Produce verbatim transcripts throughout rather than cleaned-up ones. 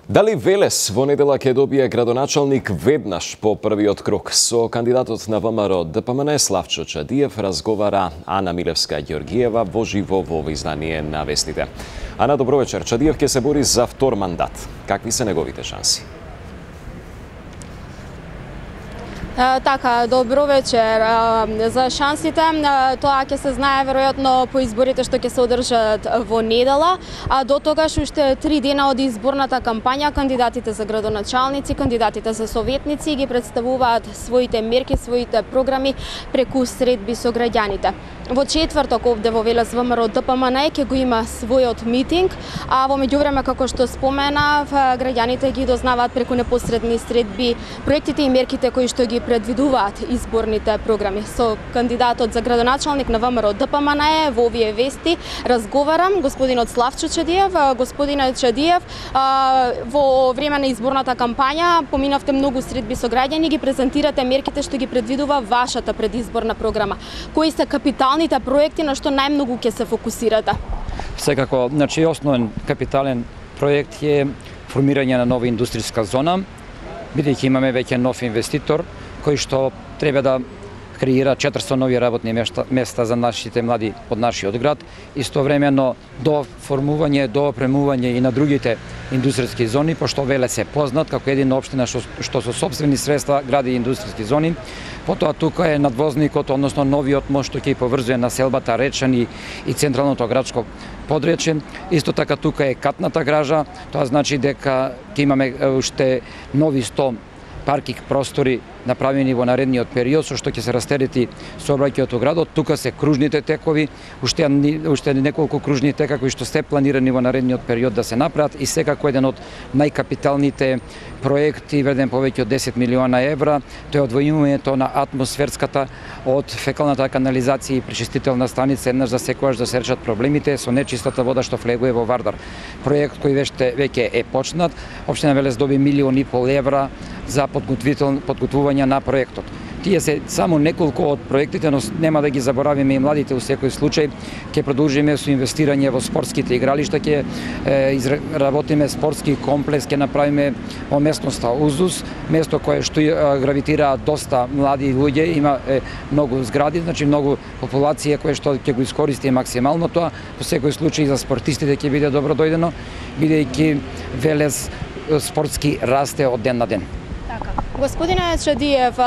Дали Велес во недела ќе добие градоначалник веднаш по првиот круг? Со кандидатот на ВМРО Д П М Н Славчо Чадиев разговара Ана Милевска-Ѓоргиева во живо во ово издание на Вестите. Ана, добро вечер. Чадиев ќе се бори за втор мандат. Какви се неговите шанси? Така, добро вечер. За шансите, тоа ќе се знае веројатно по изборите што ќе се одржат во недела, а до тогаш уште три дена од изборната кампања кандидатите за градоначалници, кандидатите за советници ги представуваат своите мерки, своите програми преку средби со граѓаните. Во четврток овде во Велес ВМРО Д П М Н ќе го има својот митинг, а во меѓувреме, како што споменав, граѓаните ги дознаваат преку непосредни средби проектите и мерките кои што ги предвидуваат изборните програми. Со кандидатот за градоначалник на ВМРО Д П М Н во овие вести разговарам, господинот Славчо Чадиев. Господине Чадиев, во време на изборната кампања поминавте многу средби со граѓани, ги презентирате мерките што ги предвидува вашата предизборна програма. Кои се капиталните проекти на што најмногу ќе се фокусирате? Секако, значи основен капитален проект е формирање на нова индустријска зона, бидејќи имаме веќе нов инвеститор кој што треба да креира четиристо нови работни места, места за нашите млади од нашиот град, истовремено до формување, до опремување и на другите индустријски зони, пошто Велес е познат како едина општина што, што со сопствени средства гради индустријски зони. Потоа тука е надвозникот, односно новиот мост што ќе поврзува населбата Речани и централното градско подречје. Исто така тука е катната гража, тоа значи дека ќе имаме уште нови сто паркинг простори направени во наредниот период, со што ќе се растерети сообраќајот во градот. Тука се кружните текови, уште, уште неколку кружни тека кои што се планирани во наредниот период да се направат, и секако еден од најкапиталните проекти, вреден повеќе од десет милиона евра, тоа е одвојувањето на атмосферската од фекалната канализација и пречистителна станица еднаш за секогаш да се решат проблемите со нечистата вода што влегува во Вардар. Проект кој веќе веќе е почнат. Општина Велес доби милион и пол евра за подготвување на проектот. Тие се само неколку од проектите, но нема да ги заборавиме и младите у секој случај. Ќе продолжиме со инвестирање во спортските игралишта, ќе изработиме спортски комплекс, ќе направиме во местноста Узус, место кое што гравитира доста млади луѓе, има е, многу згради, значи многу популација која што ќе го искористи максимално тоа. Во секој случај за спортистите ќе биде добро дојдено, бидејќи Велес спортски расте од ден на ден. Господине Чадиев,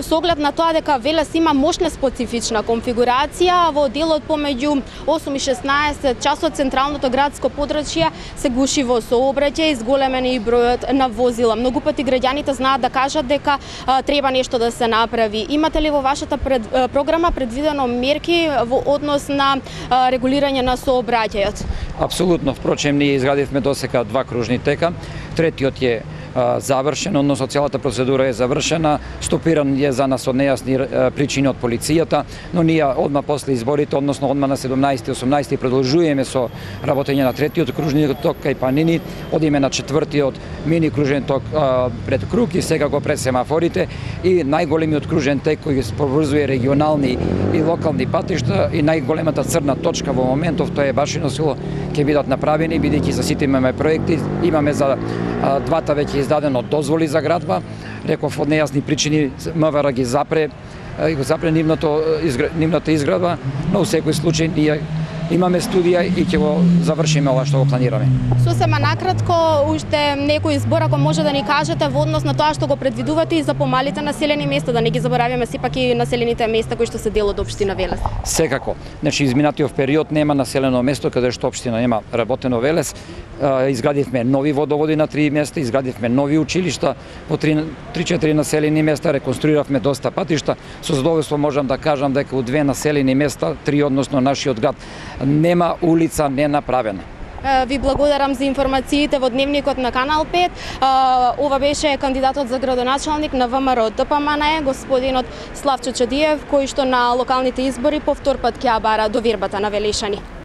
со оглед на тоа дека Велес има мощна специфична конфигурација, во делот помеѓу осум и шеснаесет часот централното градско подрачје се гуши во сообраќај, зголемен и бројот на возила. Многу пати граѓаните знаат да кажат дека а, треба нешто да се направи. Имате ли во вашата пред, а, програма предвидено мерки во однос на а, регулирање на сообраќајот? Апсолутно, впрочем, ние изградивме досека два кружни тека, третиот е завршен, односно целата процедура е завршена, стопиран е за нас од нејасни причини од полицијата, но ние одма после изборите, односно одма на седумнаесети и осумнаесети продолжуваме со работење на третиот кружни ток кај Панини, одиме на четвртиот мини кружен ток а, пред Круг и сега го пред семафорите, и најголемиот кружен тек кој поврзува регионални и локални патишта, и најголемата црна точка во моментов, тоа е Башино село, ќе бидат направени, бидејќи за сите имаме проекти, имаме за а, двата веќе издадено дозволи за градба. Реков, од нејасни причини М В Р ги запре, и го запре нивното, нивната изградба, но во секој случај ние имаме студија и ќе го завршиме ова што го планираме. Сосема накратко, уште некој избор ако може да ни кажете во однос на тоа што го предвидувате и за помалите населени места, да не ги забораваме сепак и населените места кои што се дел од општина Велес. Секако. Значи изминатиот период нема населено место каде што општина нема работено Велес. Изградивме нови водоводи на три места, изградивме нови училишта во три-четири населени места, реконструиравме доста патишта. Со задоволство можам да кажам дека у две населени места, три односно нашиот град, нема улица ненаправена. Ви благодарам за информациите во дневникот на Канал пет. Ова беше кандидатот за градоначалник на ВМРО Д П М Н, господинот Славчо Чадиев, кој што на локалните избори повтор пат ќе ја бара довербата на велешани.